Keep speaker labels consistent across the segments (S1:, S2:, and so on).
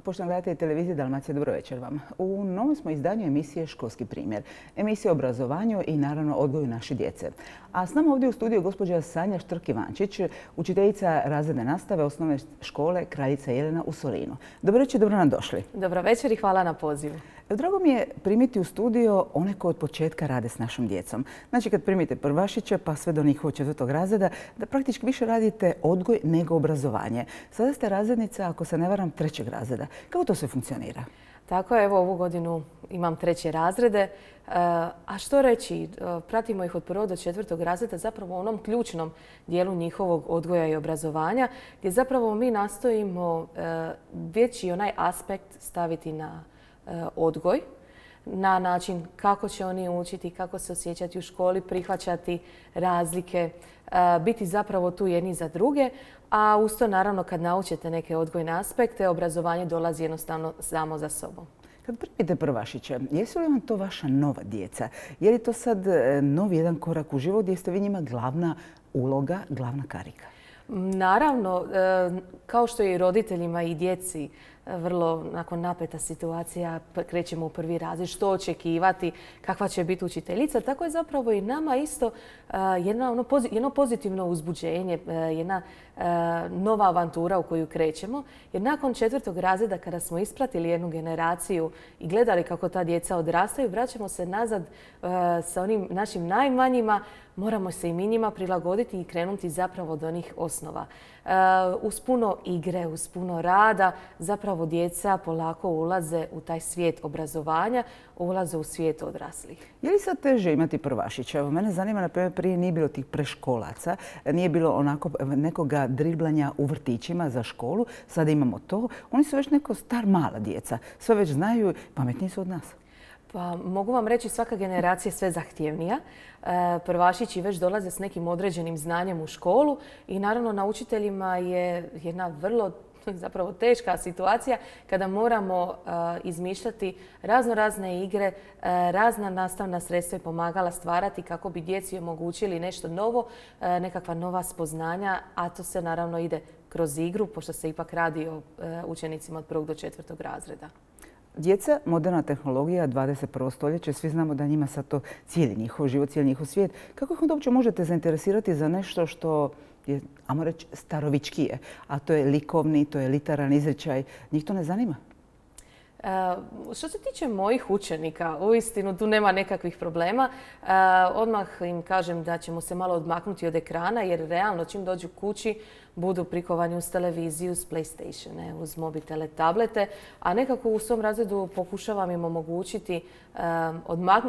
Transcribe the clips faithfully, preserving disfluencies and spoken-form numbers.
S1: Poštovani gledatelji televizije Dalmacija, dobro večer vam. U novom smo izdanju emisije Školski primjer. Emisija o obrazovanju i naravno odgoju naše djece. A s nama ovdje u studiju gospođa Sanja Štrk-Ivančić, učiteljica razredne nastave osnovne škole Kraljica Jelena u Solinu. Dobro večer, dobro nam došli.
S2: Dobro večer i hvala na pozivu.
S1: Drago mi je primiti u studio one koji od početka rade s našom djecom. Znači kad primite prvašiće pa sve do njihovog četvrtog razreda, da praktički više radite odgoj nego obrazovanje. Sada ste razrednica, ako se ne varam, trećeg razreda. Kako to sve funkcionira?
S2: Tako je, evo ovu godinu imam treće razrede. A što reći, pratimo ih od prvog do četvrtog razreda zapravo u onom ključnom dijelu njihovog odgoja i obrazovanja gdje zapravo mi nastojimo veći onaj aspekt staviti na odgoj, na način kako će oni učiti, kako se osjećati u školi, prihvaćati razlike, biti zapravo tu jedni za druge. A uz to naravno kad naučite neke odgojne aspekte, obrazovanje dolazi jednostavno samo za sobom.
S1: Kad primite prvašiće, jesu li vam to vaša nova djeca? Je li to sad novi jedan korak u život gdje ste vi njima glavna uloga, glavna karika?
S2: Naravno, kao što je i roditeljima i djeci vrlo nakon napeta situacija, krećemo u prvi razred, što očekivati, kakva će biti učiteljica, tako je zapravo i nama isto jedna, ono, jedno pozitivno uzbuđenje, jedna nova avantura u koju krećemo. Jer nakon četvrtog razreda, kada smo ispratili jednu generaciju i gledali kako ta djeca odrastaju, vraćamo se nazad sa onim našim najmanjima, moramo se i mi njima prilagoditi i krenuti zapravo od onih osnova. Uz puno igre, uz puno rada, zapravo djeca polako ulaze u taj svijet obrazovanja, ulaze u svijet odraslih.
S1: Je li sad teže imati prvašića? Evo, mene zanima, na primjer, prije nije bilo tih preškolaca, nije bilo onako nekoga driblanja u vrtićima za školu, sada imamo to. Oni su već neko star mala djeca, sve već znaju, pametniji su od nas.
S2: Pa mogu vam reći, svaka generacija je sve zahtjevnija. Prvašići već dolaze s nekim određenim znanjem u školu i naravno na učiteljima je jedna vrlo zapravo teška situacija kada moramo izmišljati razno razne igre, razna nastavna sredstva i pomagala stvarati kako bi djeci omogućili nešto novo, nekakva nova spoznanja, a to se naravno ide kroz igru, pošto se ipak radi o učenicima od prvog do četvrtog razreda.
S1: Djeca, moderna tehnologija, dvadeset prvo stoljeće, svi znamo da njima sad to cijeli njihov život, cijeli njihov svijet. Kako ih onda uopće možete zainteresirati za nešto što je, ajmo reći, starovičkije, a to je likovni, to je literan izričaj? Njih to ne zanima?
S2: Što se tiče mojih učenika, uistinu tu nema nekakvih problema. Odmah im kažem da ćemo se malo odmaknuti od ekrana jer realno čim dođu kući budu prikovani uz televiziju, uz PlayStatione, uz mobitele, tablete, a nekako u svom razredu pokušavam im omogućiti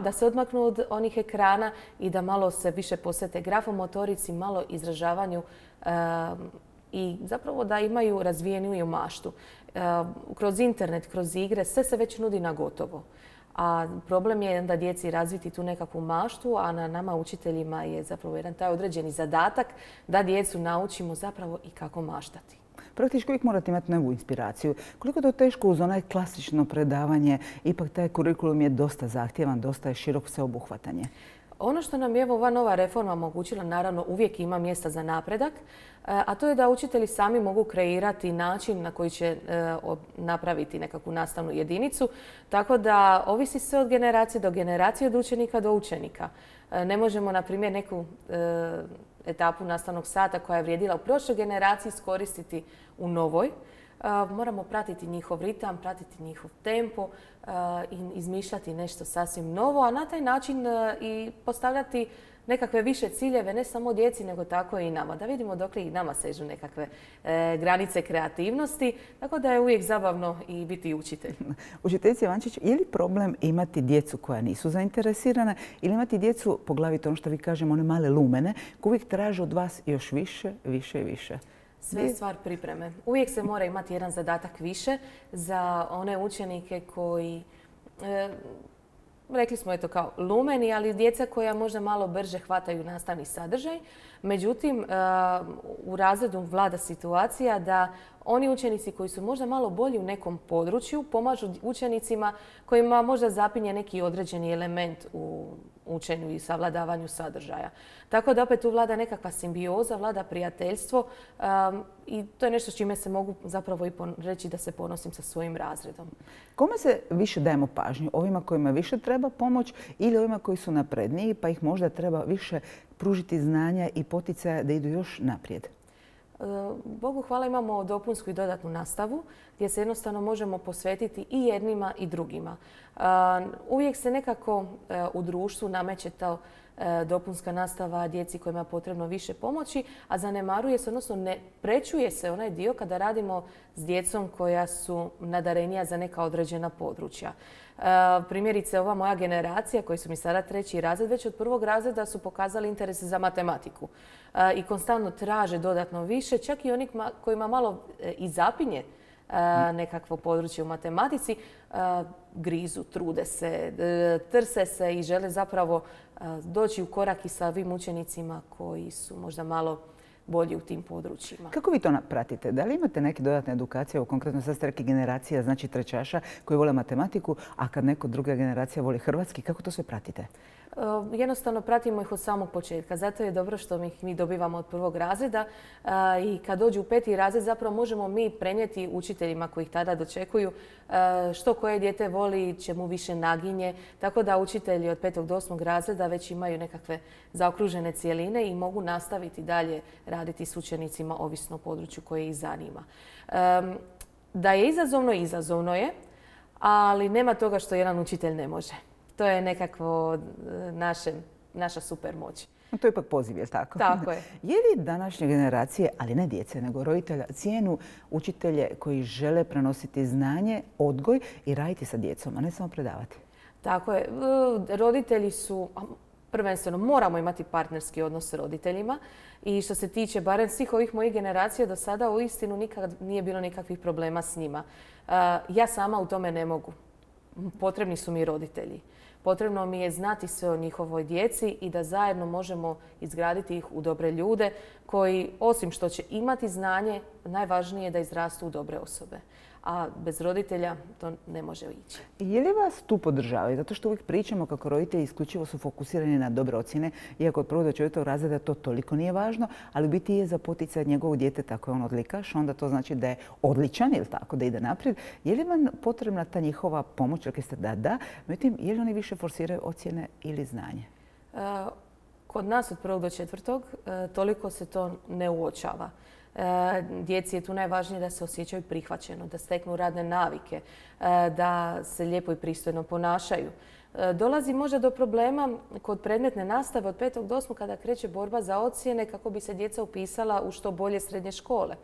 S2: da se odmaknu od onih ekrana i da malo se više posvete grafomotorici, malo izražavanju i zapravo da imaju razvijeniju maštu. Kroz internet, kroz igre, sve se već nudi na gotovo. A problem je da djeci razviti tu nekakvu maštu, a na nama učiteljima je zapravo jedan taj određeni zadatak da djecu naučimo zapravo i kako maštati.
S1: Praktički uvijek morate imati novu inspiraciju. Koliko je to teško uz onaj klasično predavanje, ipak taj kurikulum je dosta zahtjevan, dosta je širok sveobuhvatanje.
S2: Ono što nam je ova nova reforma omogućila, naravno uvijek ima mjesta za napredak, a to je da učitelji sami mogu kreirati način na koji će napraviti nekakvu nastavnu jedinicu. Tako da ovisi sve od generacije do generacije, od učenika do učenika. Ne možemo, na primjer, neku etapu nastavnog sata koja je vrijedila u prošloj generaciji iskoristiti u novoj. Moramo pratiti njihov ritam, pratiti njihov tempo i izmišljati nešto sasvim novo, a na taj način i postavljati nekakve više ciljeve, ne samo djeci, nego tako i nama. Da vidimo dokle i nama sežu nekakve granice kreativnosti, tako da je uvijek zabavno i biti učitelj.
S1: Učiteljice Ivančić, je li problem imati djecu koja nisu zainteresirana ili imati djecu, poglavito ono što vi kažemo, one male lumene, koji uvijek traže od vas još više, više i više?
S2: Sve je stvar pripreme. Uvijek se mora imati jedan zadatak više za one učenike koji, e, rekli smo eto kao lumeni, ali djeca koja možda malo brže hvataju nastavni sadržaj. Međutim, e, u razredu vlada situacija da oni učenici koji su možda malo bolji u nekom području pomažu učenicima kojima možda zapinje neki određeni element u učenju i savladavanju sadržaja. Tako da opet tu vlada nekakva simbioza, vlada prijateljstvo um, i to je nešto s čime se mogu zapravo i reći da se ponosim sa svojim razredom.
S1: Kome se više dajemo pažnju? Ovima kojima više treba pomoć ili ovima koji su napredniji pa ih možda treba više pružiti znanja i poticaja da idu još naprijed?
S2: Bogu hvala imamo dopunsku i dodatnu nastavu gdje se jednostavno možemo posvetiti i jednima i drugima. Uvijek se nekako u društvu nameće ta dopunska nastava djeci kojima je potrebno više pomoći, a zanemaruje se, odnosno ne prečuje se onaj dio kada radimo s djecom koja su nadarenija za neka određena područja. Primjerice, ova moja generacija, koji su mi sada treći razred, već od prvog razreda su pokazali interes za matematiku i konstantno traže dodatno više, čak i oni kojima malo i zapinje nekakvo područje u matematici, grizu, trude se, trse se i žele zapravo doći u korak i sa ovim učenicima koji su možda malo bolji u tim područjima.
S1: Kako vi to pratite? Da li imate neke dodatne edukacije, konkretno sad ste rekli generacija, znači trećaša koji vole matematiku, a kad neko druga generacija voli hrvatski, kako to sve pratite?
S2: Jednostavno pratimo ih od samog početka. Zato je dobro što ih mi dobivamo od prvog razreda i kad dođu u peti razred zapravo možemo mi prenijeti učiteljima koji ih tada dočekuju što koje dijete voli, čemu više naginje. Tako da učitelji od petog do osmog razreda već imaju nekakve zaokružene cijeline i mogu nastaviti dalje raditi s učenicima ovisno o području koje ih zanima. Da je izazovno, izazovno je, ali nema toga što jedan učitelj ne može. To je nekakvo naše, naša super moć.
S1: To je ipak poziv, je li tako?
S2: Tako je.
S1: Je li današnje generacije, ali ne djece, nego roditelja, cijenu učitelje koji žele prenositi znanje, odgoj i raditi sa djecom, a ne samo predavati?
S2: Tako je. Roditelji su, prvenstveno moramo imati partnerski odnos s roditeljima i što se tiče barem svih ovih mojih generacija do sada uistinu nikad nije bilo nikakvih problema s njima. Ja sama u tome ne mogu. Potrebni su mi roditelji. Potrebno mi je znati sve o njihovoj djeci i da zajedno možemo izgraditi ih u dobre ljude koji, osim što će imati znanje, najvažnije je da izrastu u dobre osobe. A bez roditelja to ne može ići.
S1: Je li vas tu podržavaju? Zato što uvijek pričamo kako roditelji isključivo su fokusirani na dobre ocjene, iako od prvog do četvrtog razreda to toliko nije važno, ali u biti je za poticaj njegovog djeteta ako je on odlikaš, onda to znači da je odličan, ili tako, da ide naprijed. Je li vam potrebna ta njihova pomoć? Rekli ste da da, međutim, je li oni više forsiraju ocjene ili znanje?
S2: Kod nas od prvog do četvrtog toliko se to ne uočava. Djeci je tu najvažnije da se osjećaju prihvaćeno, da steknu radne navike, da se lijepo i pristojno ponašaju. Dolazi možda do problema kod predmetne nastave od petog do osmog kada kreće borba za ocjene kako bi se djeca upisala u što bolje srednje škole.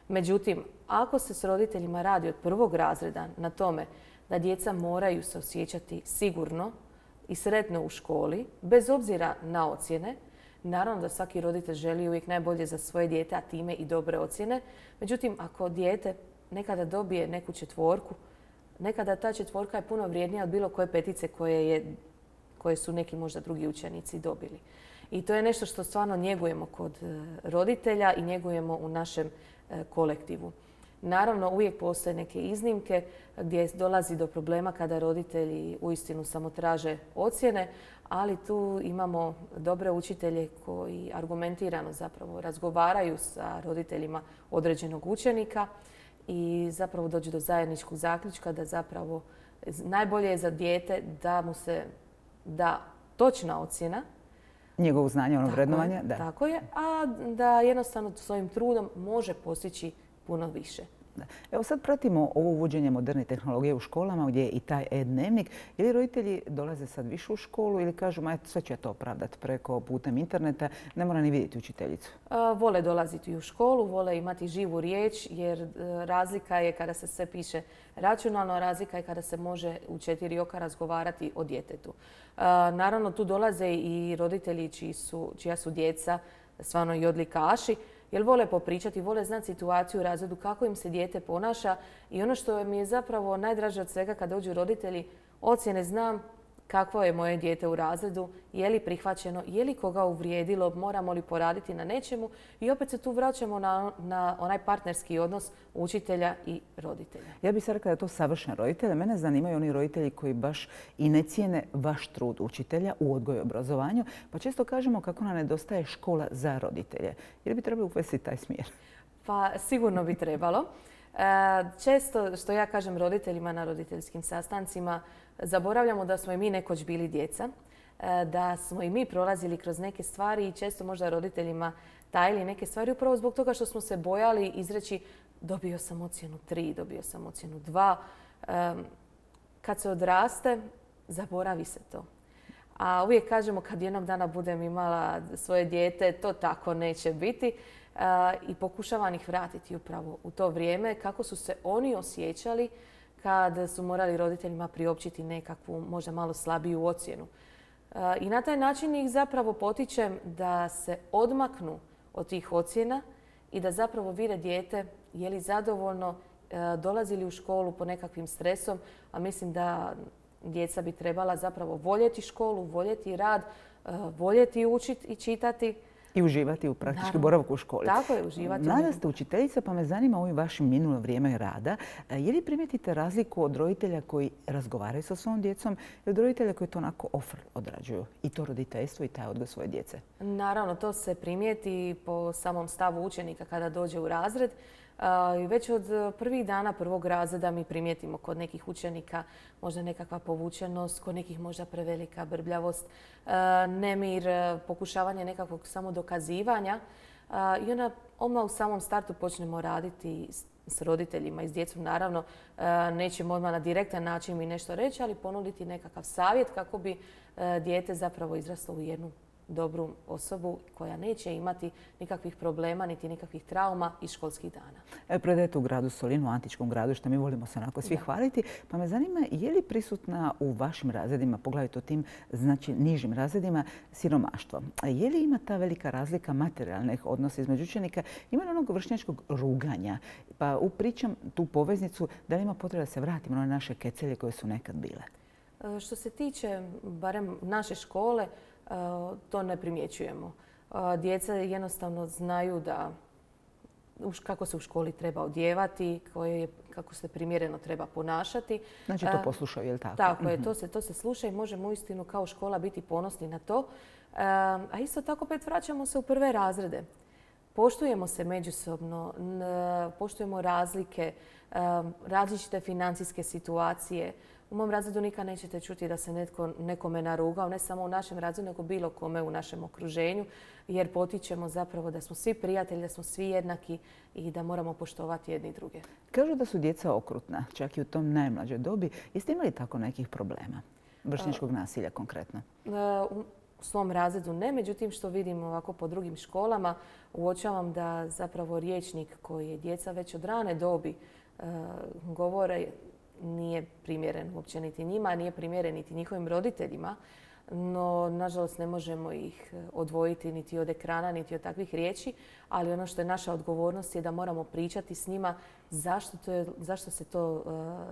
S2: Međutim, ako se s roditeljima radi od prvog razreda na tome da djeca moraju se osjećati sigurno i sretno u školi, bez obzira na ocjene, naravno da svaki roditelj želi uvijek najbolje za svoje dijete, a time i dobre ocjene. Međutim, ako dijete nekada dobije neku četvorku, nekada ta četvorka je puno vrijednija od bilo koje petice koje, je, koje su neki možda drugi učenici dobili. I to je nešto što stvarno njegujemo kod roditelja i njegujemo u našem kolektivu. Naravno, uvijek postoje neke iznimke gdje dolazi do problema kada roditelji uistinu samo traže ocjene, ali tu imamo dobre učitelje koji argumentirano zapravo razgovaraju sa roditeljima određenog učenika i zapravo dođu do zajedničkog zaključka da zapravo najbolje je za dijete da mu se da točna ocjena.
S1: Njegovo znanje, ono vrednovanje.
S2: Da. Tako je, a da jednostavno svojim trudom može postići puno više.
S1: Da. Evo sad pratimo ovo uvođenje moderne tehnologije u školama gdje je i taj e-dnevnik. Ili roditelji dolaze sad više u školu ili kažu ma sve ću ja to opravdati preko putem interneta, ne mora ni vidjeti učiteljicu?
S2: A, vole dolaziti u školu, vole imati živu riječ jer razlika je kada se sve piše računalno, razlika je kada se može u četiri oka razgovarati o djetetu. A, naravno tu dolaze i roditelji čiji su, čija su djeca stvarno i odlikaši, jer vole popričati, vole znati situaciju u razredu, kako im se dijete ponaša i ono što mi je zapravo najdraže od svega kad dođu roditelji, ocjene znam, kakvo je moje dijete u razredu, je li prihvaćeno, je li koga uvrijedilo, moramo li poraditi na nečemu i opet se tu vraćamo na, na onaj partnerski odnos učitelja i roditelja.
S1: Ja bih sad rekla da je to savršen roditelj. Mene zanimaju oni roditelji koji baš i ne cijene vaš trud učitelja u odgoju i obrazovanju, pa često kažemo kako nam nedostaje škola za roditelje. Jer bi trebali uvesti taj smjer?
S2: Pa sigurno bi trebalo. Često, što ja kažem roditeljima na roditeljskim sastancima, zaboravljamo da smo i mi nekoć bili djeca, da smo i mi prolazili kroz neke stvari i često možda roditeljima tajili neke stvari upravo zbog toga što smo se bojali izreći dobio sam ocjenu tri, dobio sam ocjenu dva. Kad se odraste, zaboravi se to. A uvijek kažemo kad jednog dana budem imala svoje dijete, to tako neće biti. I pokušavam ih vratiti upravo u to vrijeme kako su se oni osjećali kad su morali roditeljima priopćiti nekakvu možda malo slabiju ocjenu. I na taj način ih zapravo potičem da se odmaknu od tih ocjena i da zapravo vide dijete je li zadovoljno, dolazi li u školu po nekakvim stresom, a mislim da djeca bi trebala zapravo voljeti školu, voljeti rad, voljeti učiti i čitati.
S1: I uživati u praktički boravku u školi.
S2: Tako je, uživati.
S1: Mlada ste učiteljica, pa me zanima ovim vašim minulo vrijeme rada. Je li primijetite razliku od roditelja koji razgovaraju sa svojom djecom i od roditelja koji to onako ofr odrađuju? I to roditeljstvo i taj odgoj svoje djece.
S2: Naravno, to se primijeti po samom stavu učenika kada dođe u razred. I već od prvih dana prvog razreda mi primijetimo kod nekih učenika možda nekakva povučenost, kod nekih možda prevelika brbljavost, nemir, pokušavanje nekakvog samodokazivanja. I onda odmah u samom startu počnemo raditi s roditeljima i s djecom. Naravno, nećemo odmah na direktan način mi nešto reći, ali ponuditi nekakav savjet kako bi dijete zapravo izraslo u jednu dobru osobu koja neće imati nikakvih problema niti nikakvih trauma iz školskih dana.
S1: Predajete u gradu Solinu, u antičkom gradu, što mi volimo se onako svi hvaliti. Pa me zanima, je li prisutna u vašim razredima, poglavito tim znači nižim razredima, siromaštvo? Je li ima ta velika razlika materijalnih odnosa između učenika? Ima li onog vršnjačkog ruganja? Pa upričam tu poveznicu da li ima potreba da se vratimo na naše kecelje koje su nekad bile?
S2: Što se tiče barem naše škole, to ne primjećujemo. Djeca jednostavno znaju da kako se u školi treba odjevati, kako se primjereno treba ponašati.
S1: Znači to poslušaju, je li tako?
S2: Tako je, to se, to se sluša i možemo uistinu kao škola biti ponosni na to. A isto tako opet vraćamo se u prve razrede. Poštujemo se međusobno, poštujemo razlike, različite financijske situacije. U mom razredu nikad nećete čuti da se netko nekome narugao, ne samo u našem razredu, nego bilo kome u našem okruženju, jer potičemo zapravo da smo svi prijatelji, da smo svi jednaki i da moramo poštovati jedni druge.
S1: Kažu da su djeca okrutna, čak i u tom najmlađoj dobi. Jeste imali tako nekih problema? Vršnjačkog nasilja konkretno?
S2: U svom razredu ne, međutim što vidim ovako po drugim školama, uočavam da zapravo rječnik koji je djeca već od rane dobi govore nije primjeren uopće niti njima, nije primjeren niti njihovim roditeljima, no nažalost ne možemo ih odvojiti niti od ekrana, niti od takvih riječi, ali ono što je naša odgovornost je da moramo pričati s njima zašto, to je, zašto se to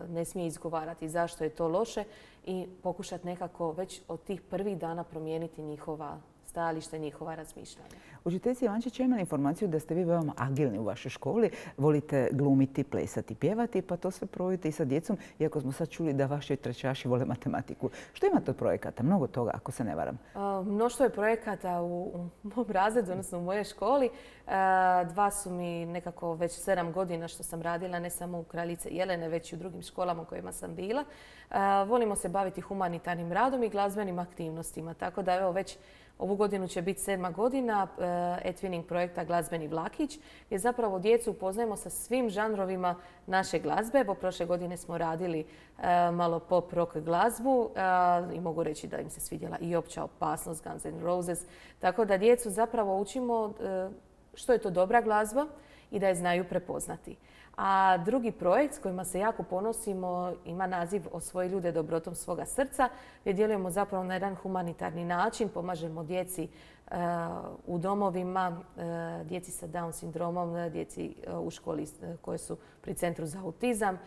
S2: ne smije izgovarati, zašto je to loše i pokušati nekako već od tih prvih dana promijeniti njihova stajalište, njihova razmišljanja.
S1: Učiteljica Ivančić, imam informaciju da ste vi veoma agilni u vašoj školi. Volite glumiti, plesati, pjevati, pa to sve provodite i sa djecom, iako smo sad čuli da vaši trećaši vole matematiku. Što imate od projekata? Mnogo toga, ako se ne varam.
S2: Mnoštvo je projekata u mom razredu, odnosno u mojoj školi. Dva su mi nekako već sedam godina što sam radila, ne samo u Kraljice Jelene, već i u drugim školama u kojima sam bila. Volimo se baviti humanitarnim radom i glazbenim aktivnostima, tako da evo već ovu godinu će biti sedma godina e-twinning projekta Glazbeni vlakić, gdje zapravo djecu upoznajemo sa svim žanrovima naše glazbe. Evo, prošle godine smo radili malo pop rock glazbu i mogu reći da im se svidjela i Opća opasnost, Guns N' Roses. Tako da djecu zapravo učimo što je to dobra glazba i da je znaju prepoznati. A drugi projekt s kojima se jako ponosimo ima naziv Osvoji ljude dobrotom svoga srca, gdje djelujemo zapravo na jedan humanitarni način, pomažemo djeci u domovima, djeci sa Down sindromom, djeci u školi koje su pri Centru za autizam.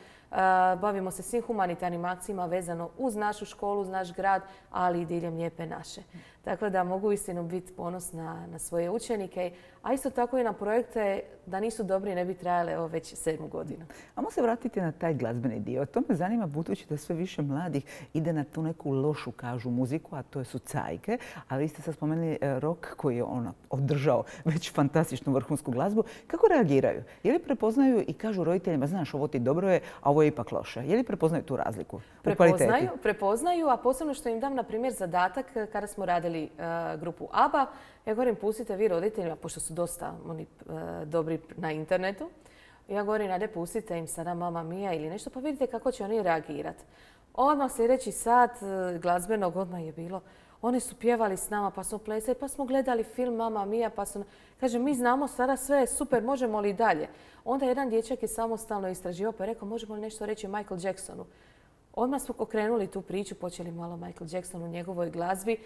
S2: Bavimo se svim humanitarnim akcijama vezano uz našu školu, uz naš grad, ali i diljem Lijepe naše. Tako da mogu istinu biti ponosna na svoje učenike, a isto tako i na projekte da nisu dobri ne bi trajale evo već sedmu godinu.
S1: Ajmo se vratiti na taj glazbeni dio. To me zanima budući da sve više mladih ide na tu neku lošu, kažu, muziku, a to su cajke. Ali vi ste sad spomenuli rock koji je ono održao već fantastičnu vrhunsku glazbu. Kako reagiraju? Je li prepoznaju i kažu roditeljima, znaš, ovo ti dobro je, a ovo je ipak loše? Je li prepoznaju tu razliku?
S2: Prepoznaju, prepoznaju, a posebno što im dam, na primjer, zadatak kada smo radili grupu ABBA. Ja govorim, pustite vi roditeljima, pošto su dosta oni dobri na internetu. Ja govorim, ajde pustite im sada Mamma Mia ili nešto, pa vidite kako će oni reagirati. Odmah sljedeći sat glazbenog odmah je bilo, oni su pjevali s nama, pa smo plesali, pa smo gledali film Mamma Mia, pa su... Kaže, mi znamo sada sve, super, možemo li dalje? Onda jedan dječak je samostalno istraživao, pa je rekao, možemo li nešto reći o Michael Jacksonu? Odmah smo okrenuli tu priču, počeli malo Michael Jackson u njegovoj glazbi.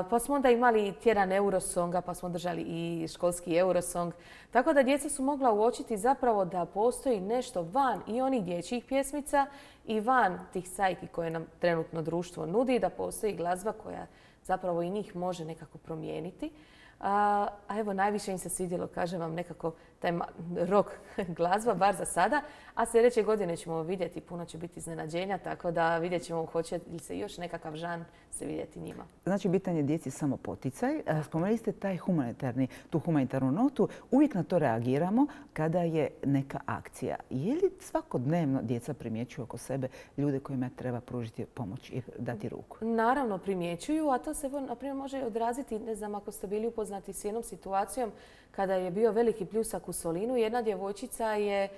S2: Pa smo onda imali tjedan Eurosonga, pa smo držali i školski Eurosong. Tako da djeca su mogla uočiti zapravo da postoji nešto van i onih dječjih pjesmica i van tih cajki koje nam trenutno društvo nudi, da postoji glazba koja zapravo i njih može nekako promijeniti. A evo, najviše im se svidjelo, kažem vam, nekako taj rock glazba, bar za sada. A sljedeće godine ćemo vidjeti, puno će biti iznenađenja, tako da vidjet ćemo hoće li se još nekakav žan se vidjeti njima.
S1: Znači, bitan je djeci samo poticaj. Spomenuli ste taj humanitarni, tu humanitarnu notu. Uvijek na to reagiramo kada je neka akcija. Je li svakodnevno djeca primjećuju oko sebe ljude kojima treba pružiti pomoć i dati ruku?
S2: Naravno primjećuju, a to se na primjer može odraziti, ne znam, ako ste bili upoznati s jednom situacijom kada je bio veliki pljusak u Solinu. Jedna djevojčica je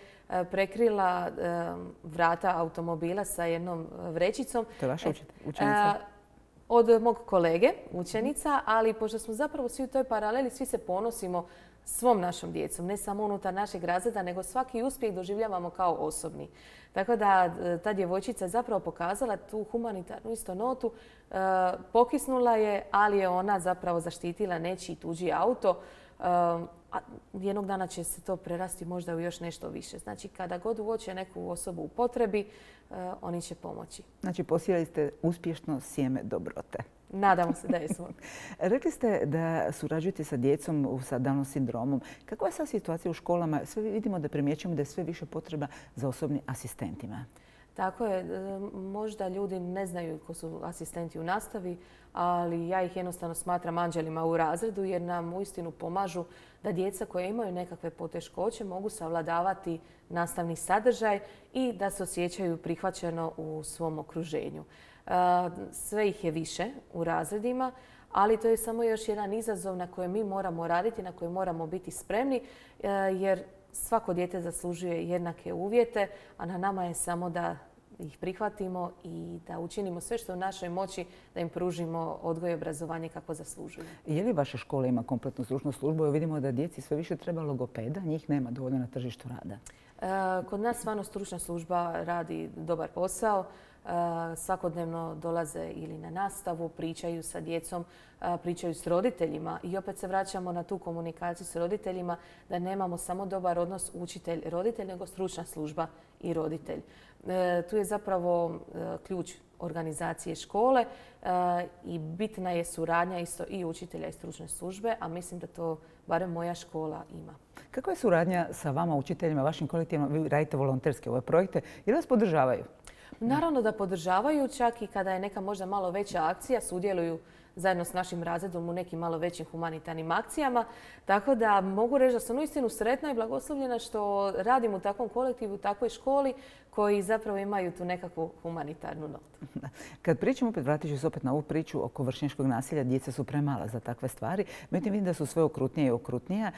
S2: prekrila vrata automobila sa jednom vrećicom.
S1: To je vaša učenica?
S2: Od mog kolege, učenica, ali pošto smo zapravo svi u toj paraleli, svi se ponosimo svom našom djecom, ne samo unutar našeg razreda, nego svaki uspjeh doživljavamo kao osobni. Tako da ta djevojčica je zapravo pokazala tu humanitarnu isto notu, pokisnula je, ali je ona zapravo zaštitila nečiji tuđi auto. A jednog dana će se to prerasti možda u još nešto više. Znači, kada god uoče neku osobu u potrebi, oni će pomoći.
S1: Znači, posijali ste uspješno sjeme dobrote.
S2: Nadamo se da jesmo.
S1: Rekli ste da surađujete sa djecom sa Down sindromom. Kakva je sad situacija u školama? Sve vidimo da primjećujemo da je sve više potreba za osobnim asistentima.
S2: Tako je. Možda ljudi ne znaju ko su asistenti u nastavi, ali ja ih jednostavno smatram anđelima u razredu jer nam uistinu pomažu da djeca koja imaju nekakve poteškoće mogu savladavati nastavni sadržaj i da se osjećaju prihvaćeno u svom okruženju. Sve ih je više u razredima, ali to je samo još jedan izazov na kojem mi moramo raditi, na kojem moramo biti spremni jer svako dijete zaslužuje jednake uvjete, a na nama je samo da ih prihvatimo i da učinimo sve što je u našoj moći da im pružimo odgoj i obrazovanje kako zaslužuju.
S1: Je li vaša škola ima kompletnu stručnu službu? Vidimo da djeci sve više treba logopeda, njih nema dovoljno na tržištu rada.
S2: Kod nas stvarno stručna služba radi dobar posao. Svakodnevno dolaze ili na nastavu, pričaju sa djecom, pričaju s roditeljima i opet se vraćamo na tu komunikaciju s roditeljima da nemamo samo dobar odnos učitelj-roditelj, nego stručna služba i roditelj. Tu je zapravo ključ organizacije škole i bitna je suradnja isto i učitelja i stručne službe, a mislim da to barem moja škola ima.
S1: Kakva je suradnja sa vama, učiteljima, vašim kolektivima? Vi radite volonterske ove projekte. Je li vas podržavaju?
S2: Naravno da podržavaju, čak i kada je neka možda malo veća akcija, sudjeluju zajedno s našim razredom u nekim malo većim humanitarnim akcijama. Tako da mogu reći da sam uistinu sretna i blagoslovljena što radim u takvom kolektivu, u takvoj školi koji zapravo imaju tu nekakvu humanitarnu notu.
S1: Kad pričamo, opet vratit ću se opet na ovu priču oko vršnjačkog nasilja, djeca su premala za takve stvari. Međutim, vidim da su sve okrutnije i okrutnije.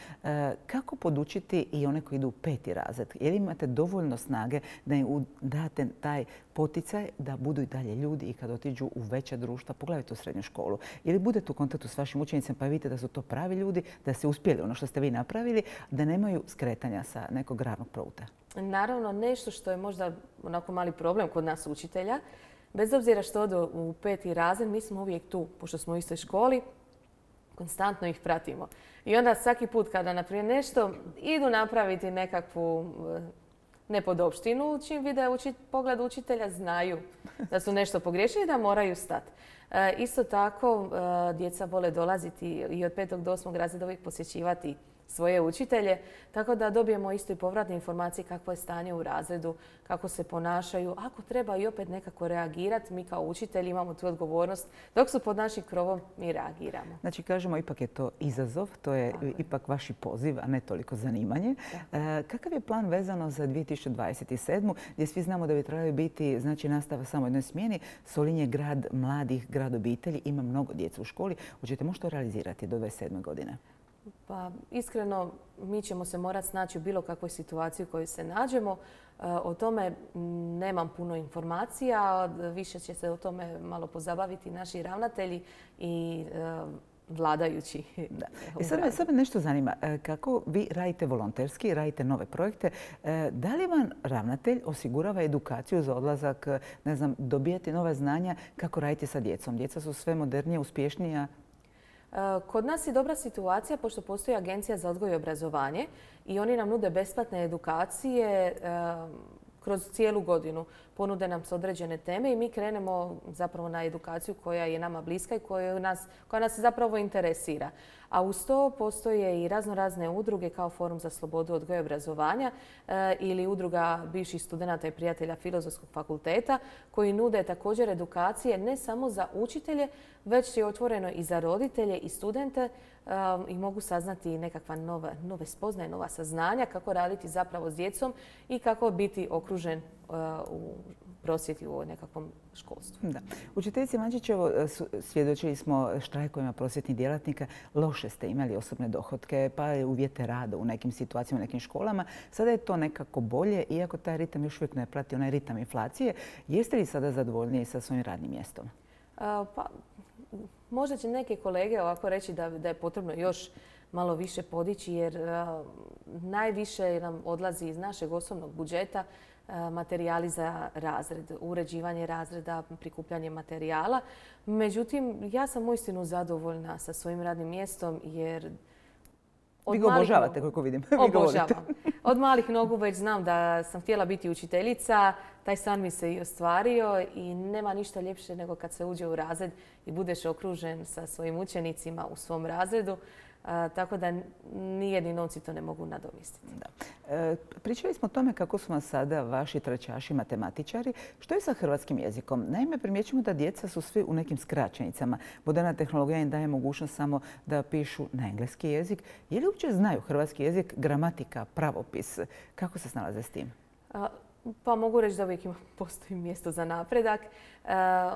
S1: Kako podučiti i one koji idu u peti razred? Jer imate dovoljno snage da im date taj poticaj da budu i dalje ljudi i kad otiđu u veća društva, pogledajte u srednju školu. Ili budete u kontaktu s vašim učenicima pa vidite da su to pravi ljudi, da ste uspjeli ono što ste vi napravili, da nemaju skretanja sa nekog ravnog pruta.
S2: Naravno, nešto što je možda onako mali problem kod nas učitelja, bez obzira što odu u peti razred, mi smo uvijek tu, pošto smo u istoj školi. konstantno ih pratimo. I onda svaki put kada, na primjer, nešto idu napraviti nekakvu nepodopštinu, čim vide pogled učitelja, znaju da su nešto pogriješili i da moraju stati. E, isto tako, e, djeca vole dolaziti i od petog do osmog razreda uvijek posjećivati svoje učitelje, tako da dobijemo isto i povratne informacije kakvo je stanje u razredu, kako se ponašaju. Ako treba i opet nekako reagirati, mi kao učitelji imamo tu odgovornost. Dok su pod našim krovom, mi reagiramo.
S1: Znači, kažemo, ipak je to izazov, to je Tako. ipak vaši poziv, a ne toliko zanimanje. E, kakav je plan vezano za dvije tisuće dvadeset sedmu. gdje svi znamo da bi trebali biti, znači, nastava samo u jednoj smjeni? Solin je grad mladih, grad obitelji, ima mnogo djece u školi. Hoćete možda to realizirati do dvadeset sedme godine?
S2: Pa iskreno, mi ćemo se morati snaći u bilo kakvoj situaciji u kojoj se nađemo. O tome nemam puno informacija. Više će se o tome malo pozabaviti naši ravnatelji i vladajući.
S1: Da. I sad me, sad me nešto zanima. Kako vi radite volonterski, radite nove projekte, da li vam ravnatelj osigurava edukaciju za odlazak, ne znam, dobijati nova znanja kako radite sa djecom? Djeca su sve modernije, uspješnija.
S2: Kod nas je dobra situacija pošto postoji Agencija za odgoj i obrazovanje i oni nam nude besplatne edukacije kroz cijelu godinu. Ponude nam se određene teme i mi krenemo zapravo na edukaciju koja je nama bliska i koja nas, koja nas zapravo interesira. A uz to postoje i razno razne udruge kao Forum za slobodu odgoja i obrazovanja e, ili udruga bivših studenata i prijatelja Filozofskog fakulteta koji nude također edukacije ne samo za učitelje, već je otvoreno i za roditelje i studente e, i mogu saznati nekakva nova, nove spoznaje, nova saznanja kako raditi zapravo s djecom i kako biti okružen e, u prosvjeti u nekakvom školstvu.
S1: Da. Učiteljice Mančićevo, svjedočili smo štrajkovima prosvjetnih djelatnika. Loše ste imali osobne dohotke, pa uvjete rada u nekim situacijama, u nekim školama. Sada je to nekako bolje, iako taj ritam još uvijek ne prati onaj ritam inflacije. Jeste li sada zadovoljniji sa svojim radnim mjestom?
S2: A, pa, možda će neke kolege ovako reći da, da je potrebno još malo više podići jer a, najviše nam odlazi iz našeg osobnog budžeta materijali za razred, uređivanje razreda, prikupljanje materijala. Međutim, ja sam uistinu zadovoljna sa svojim radnim mjestom jer...
S1: Vi ga obožavate, koliko vidim.
S2: Obožavam. Od malih nogu već znam da sam htjela biti učiteljica. Taj san mi se i ostvario i nema ništa ljepše nego kad se uđe u razred i budeš okružen sa svojim učenicima u svom razredu. A, tako da nijedni novci to ne mogu nadomjestiti.
S1: Da. E, pričali smo o tome kako su vam sada vaši trećaši matematičari. Što je sa hrvatskim jezikom? Naime, primjećujemo da djeca su svi u nekim skraćenicama. Moderna tehnologija im daje mogućnost samo da pišu na engleski jezik. Je li uopće znaju hrvatski jezik, gramatika, pravopis? Kako se snalaze s tim?
S2: A, pa mogu reći da uvijek postoji mjesto za napredak. E,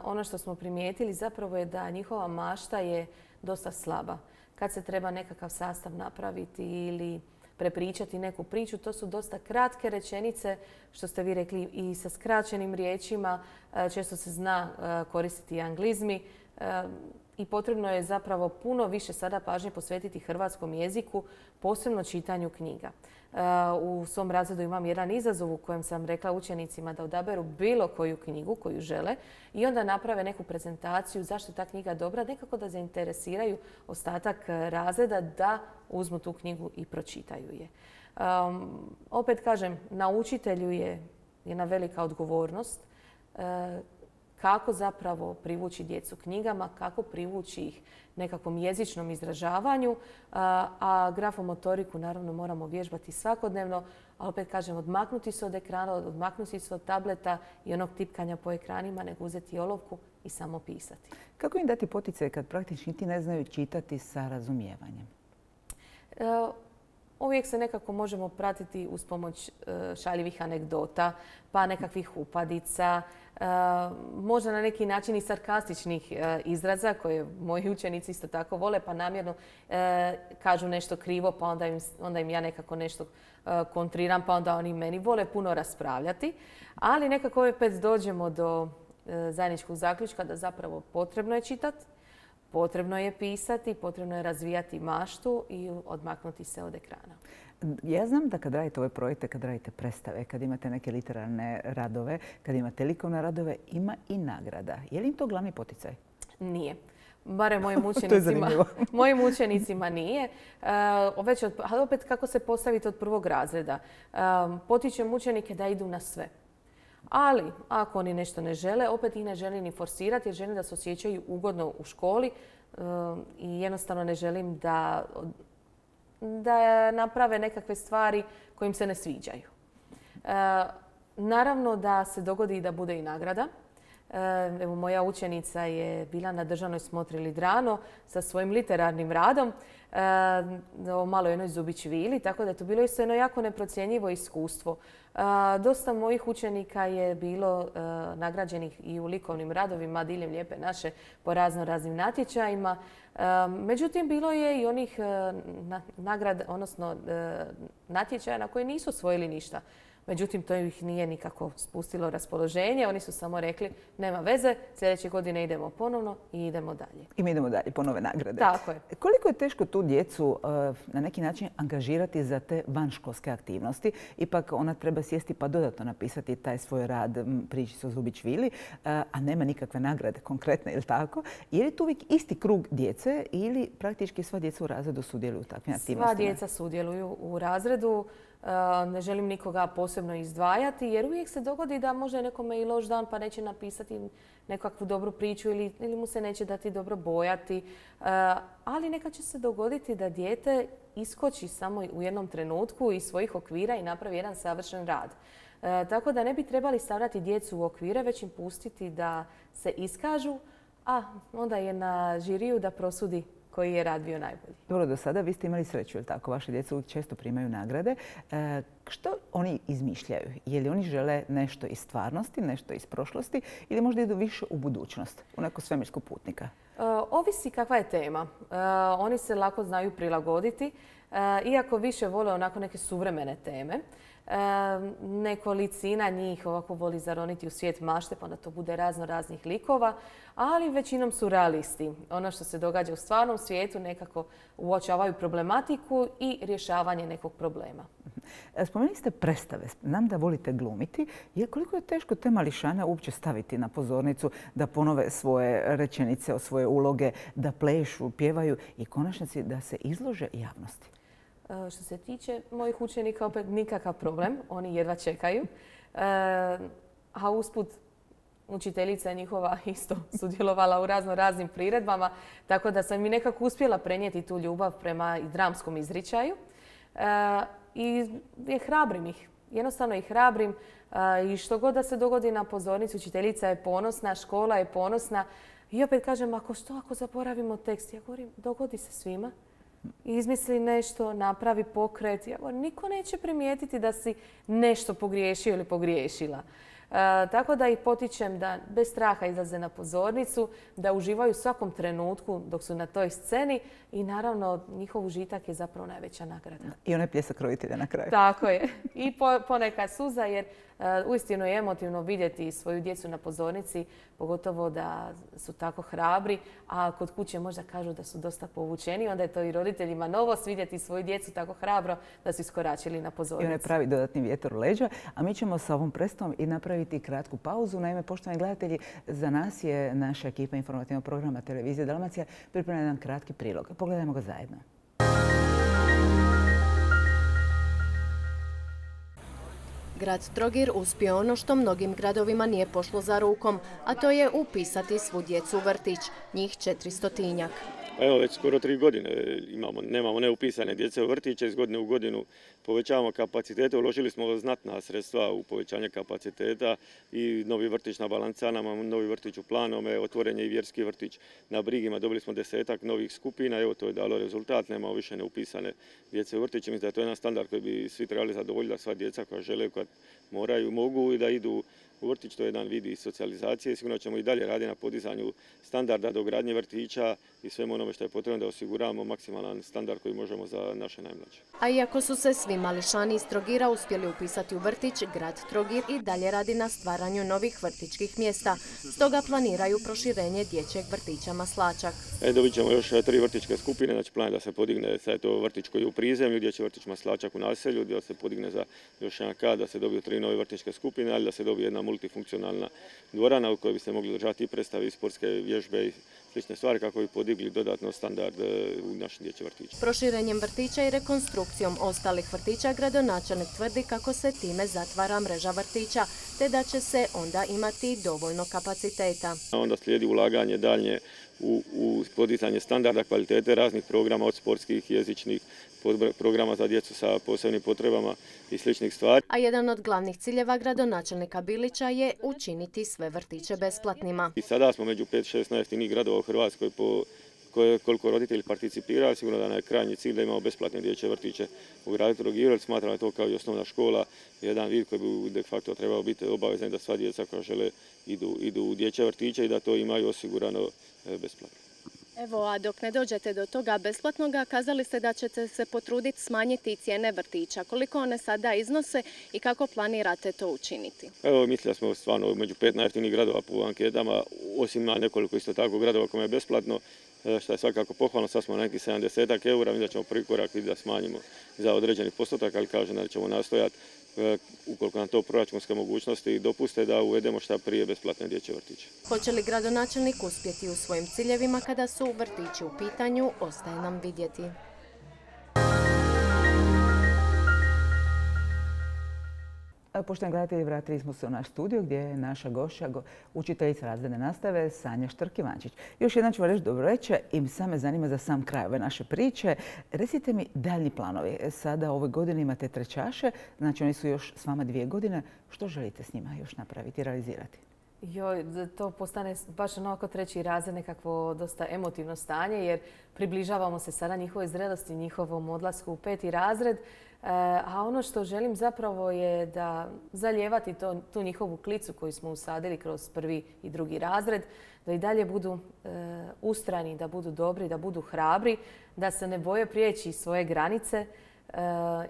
S2: ono što smo primijetili zapravo je da njihova mašta je dosta slaba. Kad se treba nekakav sastav napraviti ili prepričati neku priču, to su dosta kratke rečenice, što ste vi rekli, i sa skraćenim riječima. Često se zna koristiti anglizmi i potrebno je zapravo puno više sada pažnje posvetiti hrvatskom jeziku, posebno čitanju knjiga. U svom razredu imam jedan izazov u kojem sam rekla učenicima da odaberu bilo koju knjigu koju žele i onda naprave neku prezentaciju zašto je ta knjiga dobra, nekako da zainteresiraju ostatak razreda da uzmu tu knjigu i pročitaju je. Um, opet kažem, na učitelju je jedna velika odgovornost uh, kako zapravo privući djecu knjigama, kako privući ih nekakvom jezičnom izražavanju, a grafomotoriku naravno moramo vježbati svakodnevno, a opet kažem odmaknuti se od ekrana, odmaknuti se od tableta i onog tipkanja po ekranima, nego uzeti olovku i samo pisati.
S1: Kako im dati poticaj kad praktični ti ne znaju čitati sa razumijevanjem?
S2: E, Uvijek se nekako možemo pratiti uz pomoć šaljivih anegdota, pa nekakvih upadica, možda na neki način i sarkastičnih izraza koje moji učenici isto tako vole, pa namjerno kažu nešto krivo, pa onda im, onda im ja nekako nešto kontriram, pa onda oni meni vole puno raspravljati. Ali nekako opet dođemo do zajedničkog zaključka da zapravo potrebno je čitati, potrebno je pisati, potrebno je razvijati maštu i odmaknuti se od ekrana.
S1: Ja znam da kad radite ove projekte, kad radite predstave, kad imate neke literarne radove, kad imate likovne radove, ima i nagrada. Je li im to glavni poticaj?
S2: Nije. Barem mojim učenicima, mojim učenicima nije. Već od, ali opet kako se postaviti od prvog razreda. Potičem učenike da idu na sve. Ali ako oni nešto ne žele, opet ih ne želim ni forsirati jer želim da se osjećaju ugodno u školi i jednostavno ne želim da, da naprave nekakve stvari koje im se ne sviđaju. Naravno da se dogodi i da bude i nagrada. Evo, moja učenica je bila na državnoj smotri Lidrano sa svojim literarnim radom o maloj jednoj Zubić vili, tako da je to bilo isto jedno jako neprocjenjivo iskustvo. Dosta mojih učenika je bilo nagrađenih i u likovnim radovima diljem Lijepe naše po razno raznim natječajima. Međutim, bilo je i onih nagrada, odnosno natječaja na koje nisu osvojili ništa. Međutim, to ih nije nikako spustilo raspoloženje. Oni su samo rekli, nema veze, sljedeće godine idemo ponovno i idemo dalje.
S1: I mi idemo dalje po nove nagrade.
S2: Tako je.
S1: Koliko je teško tu djecu na neki način angažirati za te vanškolske aktivnosti? Ipak ona treba sjesti pa dodatno napisati taj svoj rad, priči o Zubić vili, a nema nikakve nagrade konkretne, ili tako? Je li tu uvijek isti krug djece ili praktički sva djeca u razredu sudjeluju u takvim aktivnostima?
S2: Sva djeca sudjeluju u razredu. Ne želim nikoga posebno izdvajati jer uvijek se dogodi da može nekome i loš dan pa neće napisati nekakvu dobru priču ili, ili mu se neće dati dobro bojati. Ali nekad će se dogoditi da dijete iskoči samo u jednom trenutku iz svojih okvira i napravi jedan savršen rad. Tako da ne bi trebali stavljati djecu u okvire, već im pustiti da se iskažu, a onda je na žiriju da prosudi koji je rad bio najbolji.
S1: Dobro, do sada vi ste imali sreću, ili tako? Vaše djeca uvijek često primaju nagrade. E, što oni izmišljaju? Je li oni žele nešto iz stvarnosti, nešto iz prošlosti ili možda idu više u budućnost, u neko svemirskog putnika?
S2: E, ovisi kakva je tema. E, oni se lako znaju prilagoditi, e, iako više vole onako neke suvremene teme. E, nekolicina njih ovako voli zaroniti u svijet mašte, pa onda to bude razno raznih likova, ali većinom su realisti. Ono što se događa u stvarnom svijetu nekako uočavaju problematiku i rješavanje nekog problema.
S1: Spomenuli ste predstave. Znam da volite glumiti. Je koliko je teško te mališane uopće staviti na pozornicu da ponove svoje rečenice, svoje uloge, da plešu, pjevaju i konačnici da se izlože javnosti?
S2: Što se tiče mojih učenika, opet nikakav problem. Oni jedva čekaju. A usput učiteljica njihova isto sudjelovala u razno raznim priredbama, tako da sam i nekako uspjela prenijeti tu ljubav prema i dramskom izričaju. I je hrabrim ih. Jednostavno ih hrabrim. I što god da se dogodi na pozornici, učiteljica je ponosna, škola je ponosna. I opet kažem, ako što ako zaboravimo tekst? Ja govorim, dogodi se svima. Izmisli nešto, napravi pokret. Ja govorim, niko neće primijetiti da si nešto pogriješio ili pogriješila. E, tako da ih potičem da bez straha izlaze na pozornicu, da uživaju u svakom trenutku dok su na toj sceni i naravno njihov užitak je zapravo najveća nagrada.
S1: I onaj pljesak roditelja na kraju.
S2: Tako je. I po, ponekad suza jer uh, uistinu je emotivno vidjeti svoju djecu na pozornici, pogotovo da su tako hrabri, a kod kuće možda kažu da su dosta povučeni, onda je to i roditeljima novost vidjeti svoju djecu tako hrabro da su iskoračili na pozornici. I
S1: onaj pravi dodatni vjetar u leđa, a mi ćemo sa ovom predstavom i napraviti kratku pauzu. Naime, poštovani gledatelji, za nas je naša ekipa informativnog programa Televizije Dalmacija pripremila jedan kratki prilog. Pogledajmo ga zajedno.
S3: Grad Trogir uspio ono što mnogim gradovima nije pošlo za rukom, a to je upisati svu djecu u vrtić, njih četiristotinjak.
S4: Evo već skoro tri godine imamo, nemamo neupisane djece u vrtiće, iz godine u godinu povećavamo kapacitete, uložili smo znatna sredstva u povećanje kapaciteta i novi vrtić na Balancanama, novi vrtić u Planome, otvoren je i vjerski vrtić na Brigima, dobili smo desetak novih skupina, evo to je dalo rezultat, nemamo više neupisane djece u vrtiće, mislim da je to jedan standard koji bi svi trebali zadovoljiti, da sva djeca koja žele, koja moraju, mogu i da idu u vrtić, to je jedan vid socijalizacije. Sigurno ćemo i dalje raditi na podizanju standarda dogradnje vrtića i svemu onome što je potrebno da osiguramo maksimalan standard koji možemo za naše najmlađe.
S3: A iako su se svi mališani iz Trogira uspjeli upisati u vrtić, grad Trogir i dalje radi na stvaranju novih vrtićkih mjesta. Stoga planiraju proširenje dječjeg vrtića Maslačak.
S4: E, dobit ćemo još tri vrtićke skupine, znači plan je da se podigne sad to vrtić koji je u prizemlju, dječji vrtić Maslačak u naselju, da se podigne za još jedan kat, da se dobiju tri nove vrtićke skupine, ali da se dobije jedna multifunkcionalna dvorana u kojoj bi se mogli držati i predstave i sportske vježbe i slične stvari kako bi podigli dodatno standard u našim dječjim vrtićima.
S3: Proširenjem vrtića i rekonstrukcijom ostalih vrtića gradonačelnik tvrdi kako se time zatvara mreža vrtića, te da će se onda imati dovoljno kapaciteta.
S4: Onda slijedi ulaganje daljnje u, u podizanje standarda kvalitete raznih programa od sportskih, jezičnih, programa za djecu sa posebnim potrebama i sličnih stvari.
S3: A jedan od glavnih ciljeva gradonačelnika Bilića je učiniti sve vrtiće besplatnima.
S4: I sada smo među pet šest najjeftinijih gradova u Hrvatskoj po koliko roditelji participiraju. Sigurno da nam je krajnji cilj da imamo besplatne dječje vrtiće u gradu Trogiru, jer smatram da je to kao i osnovna škola jedan vid koji bi de facto trebao biti obavezan da sva djeca koja žele idu, idu u dječje vrtiće i da to imaju osigurano besplatno.
S3: Evo, a dok ne dođete do toga besplatnoga, kazali ste da ćete se potruditi smanjiti cijene vrtića. Koliko one sada iznose i kako planirate to učiniti?
S4: Evo, mislim da smo stvarno među pet najjeftinijih gradova po anketama, osim na nekoliko isto tako gradova kome je besplatno, što je svakako pohvalno. Sad smo na nekih sedamdeset eura, mi da ćemo prvi korak da smanjimo za određeni postotak, ali kažem da ćemo nastojati, ukoliko nam to proračunske mogućnosti dopuste, da uvedemo šta prije besplatne dječje vrtiće.
S3: Hoće li gradonačelnik uspjeti u svojim ciljevima kada su vrtići u pitanju, ostaje nam vidjeti.
S1: Poštovani gledatelji, vratili smo se u naš studio gdje je naša gošća, učiteljica razredne nastave Sanja Štrk-Ivančić. Još jednom ću vam reći dobro večer i sad me zanima za sam kraj ove naše priče. Recite mi daljnji planovi. Sada ove godine imate trećaše, znači oni su još s vama dvije godine. Što želite s njima još napraviti i realizirati?
S2: Joj, to postane baš onako treći razred, nekakvo dosta emotivno stanje, jer približavamo se sada njihovoj zrelosti, njihovom odlasku u peti razred. A ono što želim zapravo je da zalijevati to, tu njihovu klicu koju smo usadili kroz prvi i drugi razred, da i dalje budu e, ustrajni, da budu dobri, da budu hrabri, da se ne boje prijeći svoje granice e,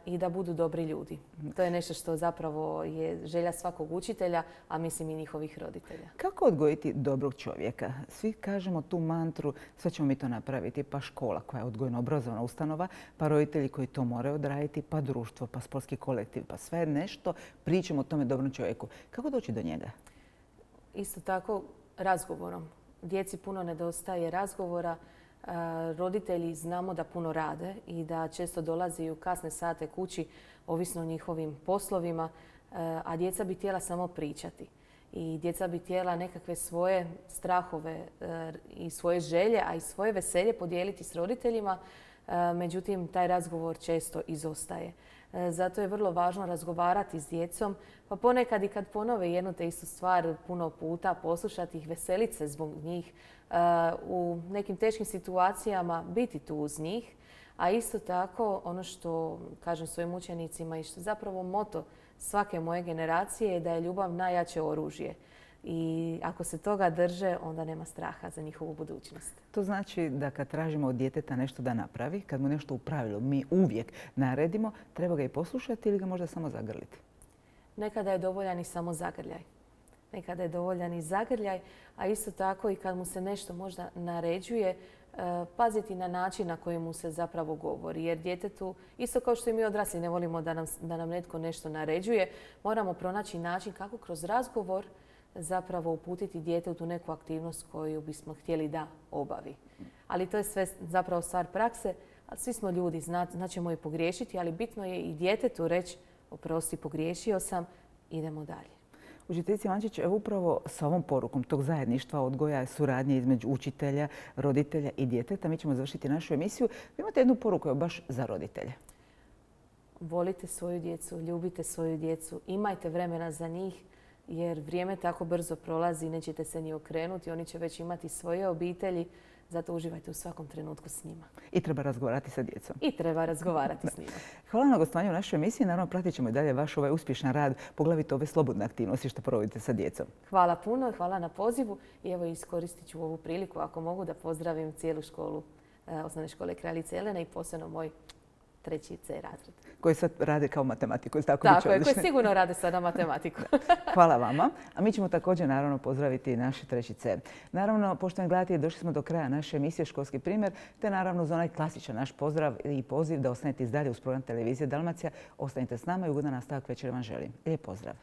S2: i da budu dobri ljudi. To je nešto što zapravo je želja svakog učitelja, a mislim i njihovih roditelja.
S1: Kako odgojiti dobrog čovjeka? Svi kažemo tu mantru, sve ćemo mi to napraviti, pa škola koja je odgojno-obrazovna ustanova, pa roditelji koji to moraju odraditi, pa društvo, pa sportski kolektiv, pa sve nešto pričamo o tome dobrom čovjeku. Kako doći do njega?
S2: Isto tako razgovorom. Djeci puno nedostaje razgovora. Roditelji znamo da puno rade i da često dolazi u kasne sate kući, ovisno o njihovim poslovima, a djeca bi htjela samo pričati. I djeca bi htjela nekakve svoje strahove i svoje želje, a i svoje veselje podijeliti s roditeljima. Međutim, taj razgovor često izostaje. Zato je vrlo važno razgovarati s djecom, pa ponekad i kad ponove jednu te istu stvar puno puta, poslušati ih, veseliti se zbog njih, u nekim teškim situacijama biti tu uz njih. A isto tako, ono što kažem svojim učenicima i što zapravo moto svake moje generacije je da je ljubav najjače oružje. I ako se toga drže, onda nema straha za njihovu budućnost.
S1: To znači da kad tražimo od djeteta nešto da napravi, kad mu nešto u pravilu mi uvijek naredimo, treba ga i poslušati ili ga možda samo zagrliti?
S2: Nekada je dovoljan i samo zagrljaj. Nekada je dovoljan i zagrljaj, a isto tako i kad mu se nešto možda naređuje, paziti na način na koji mu se zapravo govori. Jer djetetu, isto kao što i mi odrasli ne volimo da nam, da nam netko nešto naređuje, moramo pronaći način kako kroz razgovor zapravo uputiti dijete u tu neku aktivnost koju bismo htjeli da obavi. Ali to je sve zapravo stvar prakse. Svi smo ljudi, znaćemo i pogriješiti, ali bitno je i djetetu reći oprosti, pogriješio sam, idemo dalje.
S1: Učiteljice Ivančić, evo upravo sa ovom porukom tog zajedništva, odgoja, suradnje između učitelja, roditelja i djeteta, mi ćemo završiti našu emisiju. Vi imate jednu poruku baš za roditelje.
S2: Volite svoju djecu, ljubite svoju djecu, imajte vremena za njih, jer vrijeme tako brzo prolazi, nećete se ni okrenuti, oni će već imati svoje obitelji, zato uživajte u svakom trenutku s njima.
S1: I treba razgovarati sa djecom.
S2: I treba razgovarati s njima.
S1: Hvala na gostovanju u našoj emisiji. Naravno, pratit ćemo i dalje vaš ovaj uspješan rad, poglavito ove slobodne aktivnosti što provodite sa djecom.
S2: Hvala puno, hvala na pozivu i evo iskoristit ću ovu priliku ako mogu da pozdravim cijelu školu, osnovne škole Kraljice Jelene i posebno moj treći C razred.
S1: Koji sad rade kao matematiku. Tako,
S2: tako je, koji sigurno rade sada matematiku.
S1: Hvala vama. A mi ćemo također naravno pozdraviti naši treći C. Naravno, poštovani gledatelji, došli smo do kraja naše emisije Školski primjer, te naravno za onaj klasičan naš pozdrav i poziv da ostanete i dalje uz program televizije Dalmacija. Ostanite s nama i ugodan nastavak večera vam želim. Lijep pozdrav.